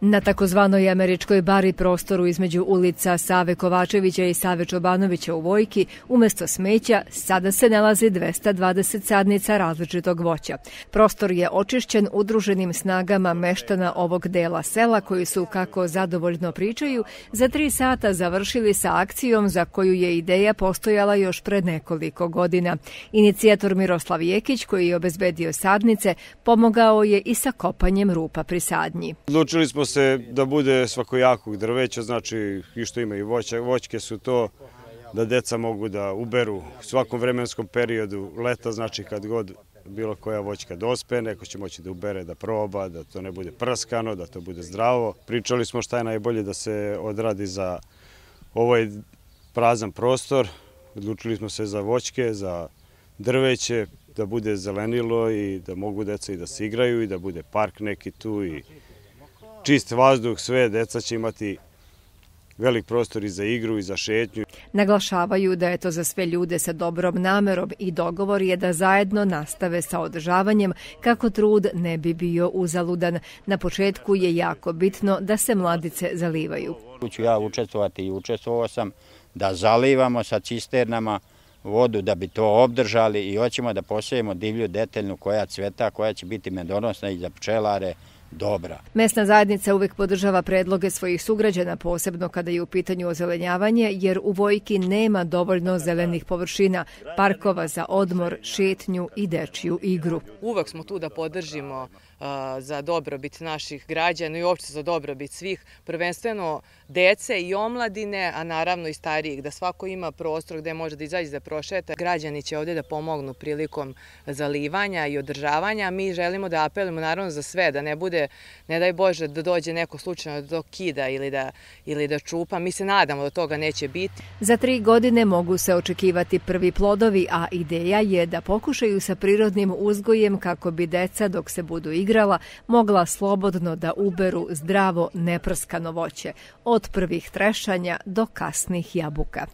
Na takozvanoj američkoj bari prostoru između ulica Save Kovačevića i Save Čobanovića u Vojki, umjesto smeća, sada se nalazi 220 sadnica različitog voća. Prostor je očišćen udruženim snagama meštana ovog dela sela koji su, kako zadovoljno pričaju, za 3 sata završili sa akcijom za koju je ideja postojala još pred nekoliko godina. Inicijator Miroslav Jekić, koji je obezbedio sadnice, pomogao je i sa kopanjem rupa pri sadnji. Odlučili smo se da bude svakojakog drveća, znači i što ima i voćke su to, da deca mogu da uberu u svakom vremenskom periodu, leta znači kad god bilo koja voćka dospe, neko će moći da ubere, da proba, da to ne bude prskano, da to bude zdravo. Pričali smo šta je najbolje da se odradi za ovaj prazan prostor, odlučili smo se za voćke, za drveće, da bude zelenilo i da mogu deca i da se igraju i da bude park neki tu i čist vazduh, sve deca će imati velik prostor i za igru i za šetnju. Naglašavaju da je to za sve ljude sa dobrom namerom i dogovor je da zajedno nastave sa održavanjem kako trud ne bi bio uzaludan. Na početku je jako bitno da se mladice zalivaju. Ću ja učestvovati i učestvovao sam da zalivamo sa cisternama vodu da bi to obdržali i hoćemo da posejemo divlju deteljnu koja cveta, koja će biti medonosna i za pčelare dobra. Mesna zajednica uvijek podržava predloge svojih sugrađana, posebno kada je u pitanju ozelenjavanje, jer u Vojki nema dovoljno zelenih površina, parkova za odmor, šetnju i dečiju igru. Uvek smo tu da podržimo za dobrobit naših građana i uopšte za dobrobit svih, prvenstveno dece i omladine, a naravno i starijih, da svako ima prostor gde može da izađe da prošeta. Građani će ovdje da pomognu prilikom zalivanja i održavanja. Mi želimo da apelujemo naravno za sve, da ne bude, ne daj Bože, da dođe neko slučajno do kida ili da čupa. Mi se nadamo da toga neće biti. Za 3 godine mogu se očekivati prvi plodovi, a ideja je da pokušaju sa prirodnim uzgojem kako bi deca, dok se budu igrala, mogla slobodno da uberu zdravo neprskano voće, od prvih trešanja do kasnih jabuka.